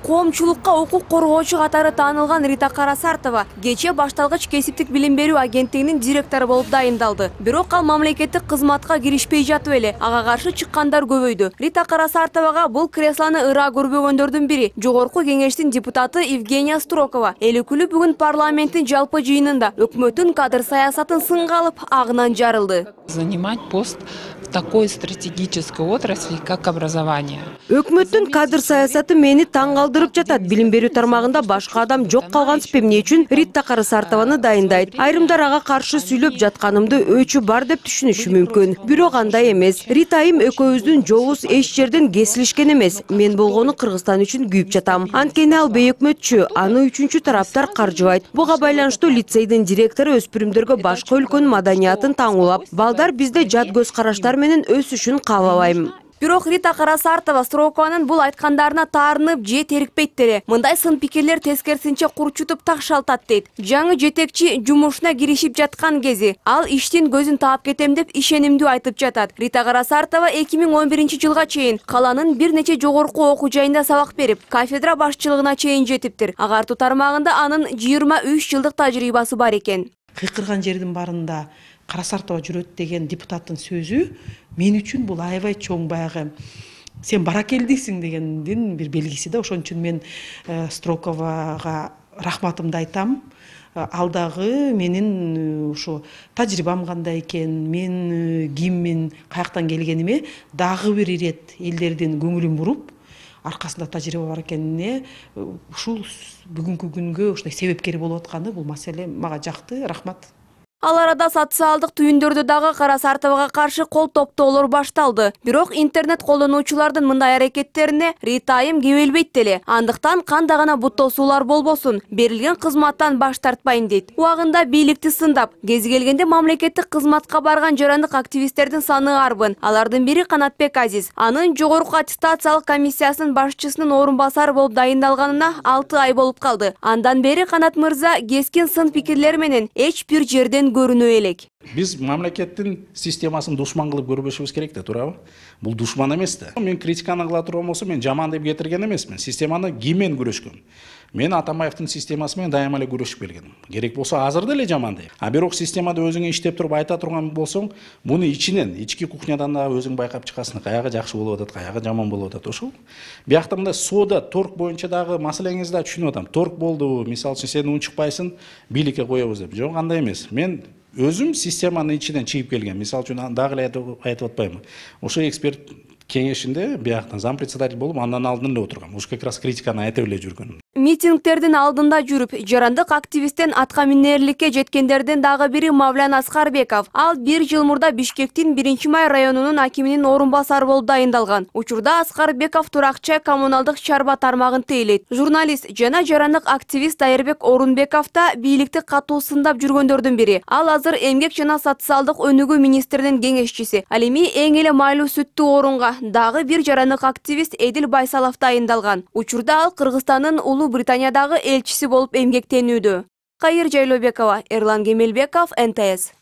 Коомчулукка укук коргоочу катары таанылган Рита Карасартова кечээ башталгыч кесиптик билим берүү агенттигинин директору болуп дайындалды. Бирок ал мамлекеттик кызматка киришпей жатып эле ага каршы чыккандар көбөйдү. Рита Карасартовага бул креслону ыра көрбөгөндөрдүн бири Жогорку кеңештин депутаты Евгения Строкова. Эл өкүлү бүгүн парламенттин жалпы жыйынында өкмөттүн кадр саясатын сынга алып, агынан жарылды. Занимать пост в такой стратегической отрасли, как образование. Өкмөттүн кадр саясаты мени таң калтырып жатат. Билим берүү тармагында башка адам жок калгансып эмне үчүн Рита Карасартованы дайындайт? Айрымдар ага каршы сүйлөп жатканымды өчү бар деп түшүнүшү мүмкүн. Бирок андай эмес. Ритайым экөөбүздүн жолубуз эч жерден кесилишкен эмес. Мен болгону Кыргызстан үчүн күйүп жатам. Анткени ал бейөкмөтчү, аны үчүнчү тараптар каржыбайт. Буга байланыштуу лицейдин директору өспүрүмдөргө башка өлкөнүн маданиятын таңуулап, балдар бизде жат көз караштар менен өсүшүн каалабайм. Бирок Рита Карасартова Строкованын бул айткандарына таарынып же терикпейт деле. Мындай сын пикирлер тескерисинче курчутуп такшалтат дейт. Жаңы жетекчи жумушуна киришип жаткан кези ал иштин көзүн таап кетем деп ишенимдүү айтып жатат. Рита Карасартова 2011-жылга чейин каланын бир нече жогорку окуу жайында сабак берип, кафедра башчылыгына чейин жетиптир. Агартуу тармагында анын 23 жылдык тажрыйбасы бар экен. Кыйкырган жердин барында Карасартова жүрөт деген депутаттын сөзү мен үчүн бул аябай чоң баягы сен баракелдисиң дегендин бир белгиси да. Ошон үчүн мен Строковага рахматымды айтам. Ал дагы менин ушу тажрыйбам кандай экен, мен киммин, каяктан келгениме дагы бир ирет элдердин көңүлүн буруп, аркасында тажрыйба бар экенине ушул бүгүнкү күнгө ушундай себепкер болуп атканы бул маселе мага жакты. Рахмат. Ал арада социалдык түйүндөрдө дагы Карасартовага каршы кол топтоолор башталды. Бирок интернет колдонуучулардын мындай аракеттерине Ритайым кебелбейт деле. Андыктан кандай гана буттосуулар болбосун, берилген кызматтан баш тартпайм дейт. Убагында бийликти сындап, кез келгенде мамлекеттик кызматка барган жарандык активисттердин саны арбын. Алардын бири Канатбек Азиз. Анын жогорку аттестациялык комиссиясынын башчысынын орун басары болуп дайындалганына 6 ай болуп калды. Андан бери Канат мырза кескин сын пикирлер менен эч бир жерден көрүнө элек. Биз мамлекеттин системасын душман кылып көрбөшүбүз керек да, туурабы? Бул душман эмес да. Мен критиканы кыла турган болсом, мен жаман деп кетирген эмесмин. Системаны ким менен күрөшкөн? Мен Атамбаевдин системасы менен дайыма эле күрөшүп келгем. Керек болсо азыр деле жаман дейм. А бирок системада өзүңө иштеп туруп айта турган болсоң, муну ичинен, ички кухнядан да өзүң байкап чыгасың, каягы жакшы болуп атат, каягы жаман болуп атат. Ошол. Биякта мындай сода, торг боюнча дагы маселеңизди да түшүнүп атам. Торг болду, мисалы үчүн сен унчукпайсың, бийликке коебуз деп. Жок, андай эмес. Мен өзүм системанын ичинен чыгып келген. Мисалы үчүн дагы эле айтып атпайбы? Ошо эксперт кеңешинде бияктан зампредседатель болуп, андан алдын эле отургам. Ушу как раз критиканы айтып эле жүргөнүм. Митингдердин алдында жүрүп, жарандык активисттен атка минерликке жеткендерден дагы бири Мавлян Аскарбеков. Ал 1 жыл мурда Бишкектин 1-Май районунун акиминин орун басары болуп дайындалган. Учурда Аскарбеков туракчы коммуналдык чарба тармагын тейлейт. Журналист жана жарандык активист Дайырбек Орунбеков да бийликти катуу сындап жүргөндөрдүн бири. Ал азыр эмгек жана социалдык өнүгүү министринин кеңешчиси. Ал эми эң эле майлуу сүттүү орунга дагы бир жарандык активист Эдил Байсалов дайындалган. Учурда ал Кыргызстандын Британиядагы элчиси болуп эмгектенүүдө. Кайыр Жайлообекова, Эрлан Кемелбеков, НТС.